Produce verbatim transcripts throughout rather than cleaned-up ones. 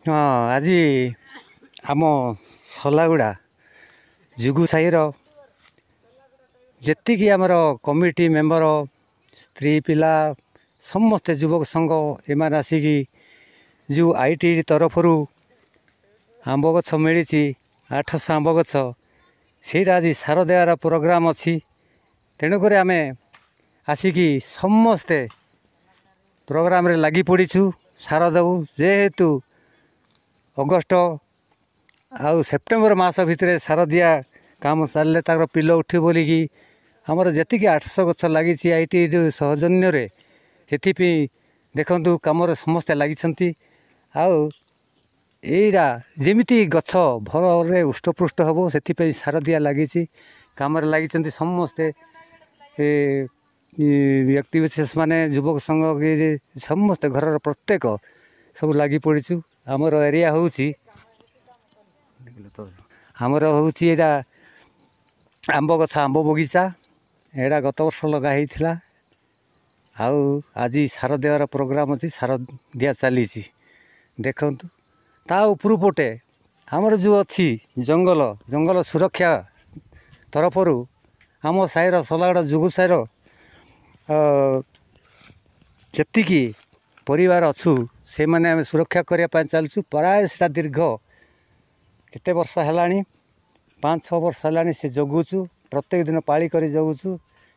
ହଁ, ଆଜି ଆମ ସଲାଗୁଡ଼ା ଯୁଗୁ ସାହିର ଯେତିକି ଆମର କମିଟି ମେମ୍ବର, ସ୍ତ୍ରୀ, ପିଲା ସମସ୍ତେ, ଯୁବକ ସଂଘ ଏମାନେ ଆସିକି ଯେଉଁ I T ତରଫରୁ ଆମ୍ବ ଗଛ ମିଳିଛି, ଆଠଶହ ଆମ୍ବ ଗଛ, ସେଇଟା ଆଜି ସାର ଦେବାର ପ୍ରୋଗ୍ରାମ୍ ଅଛି। ତେଣୁକରି ଆମେ ଆସିକି ସମସ୍ତେ ପ୍ରୋଗ୍ରାମରେ ଲାଗି ପଡ଼ିଛୁ, ସାର ଦେବୁ। ଯେହେତୁ ଅଗଷ୍ଟ ଆଉ ସେପ୍ଟେମ୍ବର ମାସ ଭିତରେ ସାର ଦିଆ କାମ ଚାଲିଲେ ତାଙ୍କର ପିଲ ଉଠିବ ବୋଲିକି ଆମର ଯେତିକି ଆଠଶହ ଗଛ ଲାଗିଛି I T ସୌଜନ୍ୟରେ, ସେଥିପାଇଁ ଦେଖନ୍ତୁ କାମରେ ସମସ୍ତେ ଲାଗିଛନ୍ତି। ଆଉ ଏଇଟା ଯେମିତି ଗଛ ଭଲରେ ହୃଷ୍ଟପୃଷ୍ଟ ହେବ, ସେଥିପାଇଁ ସାର ଦିଆ ଲାଗିଛି। କାମରେ ଲାଗିଛନ୍ତି ସମସ୍ତେ ଏ ବ୍ୟକ୍ତି ବିଶେଷ ମାନେ, ଯୁବକ ସଂଘ, ସମସ୍ତେ ଘରର ପ୍ରତ୍ୟେକ ସବୁ ଲାଗି ପଡ଼ିଛୁ। ଆମର ଏରିଆ ହେଉଛି, ଆମର ହେଉଛି ଏଇଟା ଆମ୍ବ ଗଛ, ଆମ୍ବ ବଗିଚା। ଏଇଟା ଗତ ବର୍ଷ ଲଗା ହେଇଥିଲା ଆଉ ଆଜି ସାର ଦେବାର ପ୍ରୋଗ୍ରାମ୍ ଅଛି, ସାର ଦିଆ ଚାଲିଛି ଦେଖନ୍ତୁ। ତା ଉପରୁ ପଟେ ଆମର ଯେଉଁ ଅଛି ଜଙ୍ଗଲ, ଜଙ୍ଗଲ ସୁରକ୍ଷା ତରଫରୁ ଆମ ସାହିର, ସଲାଗଡ଼ ଯୁଗୁ ସାହିର ଯେତିକି ପରିବାର ଅଛୁ, ସେମାନେ ଆମେ ସୁରକ୍ଷା କରିବା ପାଇଁ ଚାଲିଛୁ। ପ୍ରାୟ ସେଟା ଦୀର୍ଘ କେତେ ବର୍ଷ ହେଲାଣି, ପାଞ୍ଚ ଛଅ ବର୍ଷ ହେଲାଣି ସେ ଜଗୁଛୁ, ପ୍ରତ୍ୟେକ ଦିନ ପାଳି କରି ଜଗୁଛୁ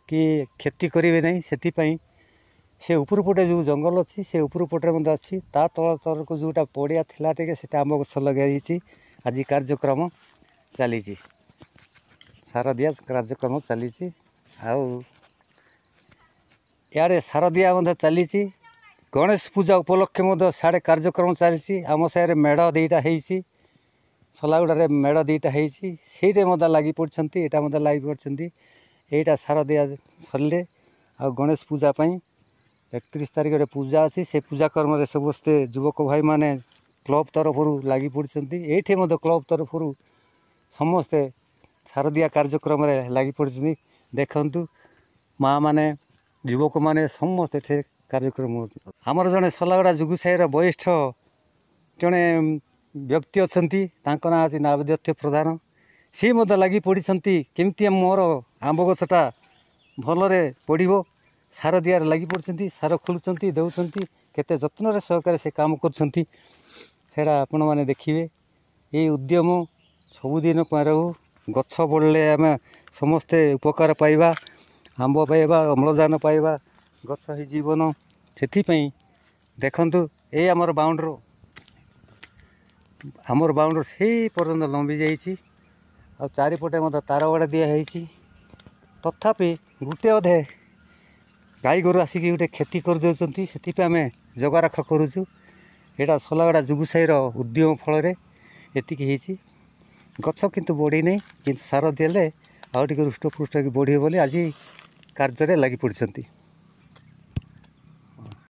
କି କ୍ଷତି କରିବେ ନାହିଁ। ସେଥିପାଇଁ ସେ ଉପରୁ ପଟେ ଯେଉଁ ଜଙ୍ଗଲ ଅଛି, ସେ ଉପରୁ ପଟରେ ମଧ୍ୟ ଅଛି। ତା ତଳ ତଳକୁ ଯେଉଁଟା ପଡ଼ିଆ ଥିଲା ଟିକେ, ସେଟା ଆମ୍ବ ଗଛ ଲଗାଯାଇଛି। ଆଜି କାର୍ଯ୍ୟକ୍ରମ ଚାଲିଛି, ସାର ଦିଆ କାର୍ଯ୍ୟକ୍ରମ ଚାଲିଛି ଆଉ ଇଆଡ଼େ ସାର ଦିଆ ମଧ୍ୟ ଚାଲିଛି। ଗଣେଶ ପୂଜା ଉପଲକ୍ଷେ ମଧ୍ୟ ସିଆଡ଼େ କାର୍ଯ୍ୟକ୍ରମ ଚାଲିଛି। ଆମ ସାହିରେ ମେଢ଼ ଦୁଇଟା ହେଇଛି, ସଲାଗୁଡ଼ାରେ ମେଢ଼ ଦୁଇଟା ହେଇଛି, ସେଇଟା ମଧ୍ୟ ଲାଗି ପଡ଼ିଛନ୍ତି, ଏଇଟା ମଧ୍ୟ ଲାଗି ପଡ଼ିଛନ୍ତି। ଏଇଟା ସାର ଦିଆ ସରିଲେ ଆଉ ଗଣେଶ ପୂଜା ପାଇଁ ଏକତିରିଶ ତାରିଖରେ ପୂଜା ଅଛି। ସେ ପୂଜା କର୍ମରେ ସମସ୍ତେ ଯୁବକ ଭାଇମାନେ କ୍ଲବ୍ ତରଫରୁ ଲାଗି ପଡ଼ିଛନ୍ତି। ଏଇଠି ମଧ୍ୟ କ୍ଲବ୍ ତରଫରୁ ସମସ୍ତେ ସାର ଦିଆ କାର୍ଯ୍ୟକ୍ରମରେ ଲାଗି ପଡ଼ିଛନ୍ତି। ଦେଖନ୍ତୁ, ମାଆମାନେ, ଯୁବକମାନେ ସମସ୍ତେ ଏଠି କାର୍ଯ୍ୟକ୍ରମ। ଆମର ଜଣେ ସଲାଗଡ଼ା ଯୁଗୁ ସାହିର ବରିଷ୍ଠ ଜଣେ ବ୍ୟକ୍ତି ଅଛନ୍ତି, ତାଙ୍କ ନାଁ ଅଛି ନାବଦତ୍ୟ ପ୍ରଧାନ। ସିଏ ମଧ୍ୟ ଲାଗି ପଡ଼ିଛନ୍ତି, କେମିତି ମୋର ଆମ୍ବ ଗଛଟା ଭଲରେ ପଡ଼ିବ। ସାର ଦିଆରେ ଲାଗି ପଡ଼ିଛନ୍ତି, ସାର ଖୋଲୁଛନ୍ତି, ଦେଉଛନ୍ତି, କେତେ ଯତ୍ନରେ ସହକାରେ ସେ କାମ କରୁଛନ୍ତି, ସେଇଟା ଆପଣମାନେ ଦେଖିବେ। ଏଇ ଉଦ୍ୟମ ସବୁଦିନ ପାଇଁ ରହୁ। ଗଛ ବଢ଼ିଲେ ଆମେ ସମସ୍ତେ ଉପକାର ପାଇବା, ଆମ୍ବ ପାଇବା, ଅମ୍ଳଜାନ ପାଇବା। ଗଛ ହିଁ ଜୀବନ। ସେଥିପାଇଁ ଦେଖନ୍ତୁ, ଏଇ ଆମର ବାଉଣ୍ଡ୍ରି, ଆମର ବାଉଣ୍ଡ୍ରି ସେଇ ପର୍ଯ୍ୟନ୍ତ ଲମ୍ବି ଯାଇଛି ଆଉ ଚାରିପଟେ ମଧ୍ୟ ତାର ବାଡ଼ ଦିଆହେଇଛି। ତଥାପି ଗୋଟେ ଅଧେ ଗାଈ ଗୋରୁ ଆସିକି ଗୋଟେ କ୍ଷତି କରିଦେଉଛନ୍ତି, ସେଥିପାଇଁ ଆମେ ଜଗାରଖ କରୁଛୁ। ଏଇଟା ସଲାଗଡ଼ା ଯୁଗୁ ସାହିର ଉଦ୍ୟମ ଫଳରେ ଏତିକି ହେଇଛି। ଗଛ କିନ୍ତୁ ବଢ଼ିନି, କିନ୍ତୁ ସାର ଦେଲେ ଆଉ ଟିକେ ହୃଷ୍ଟପୃଷ୍ଟ ହେଇକି ବଢ଼ିବ ବୋଲି ଆଜି କାର୍ଯ୍ୟରେ ଲାଗି ପଡ଼ିଛନ୍ତି।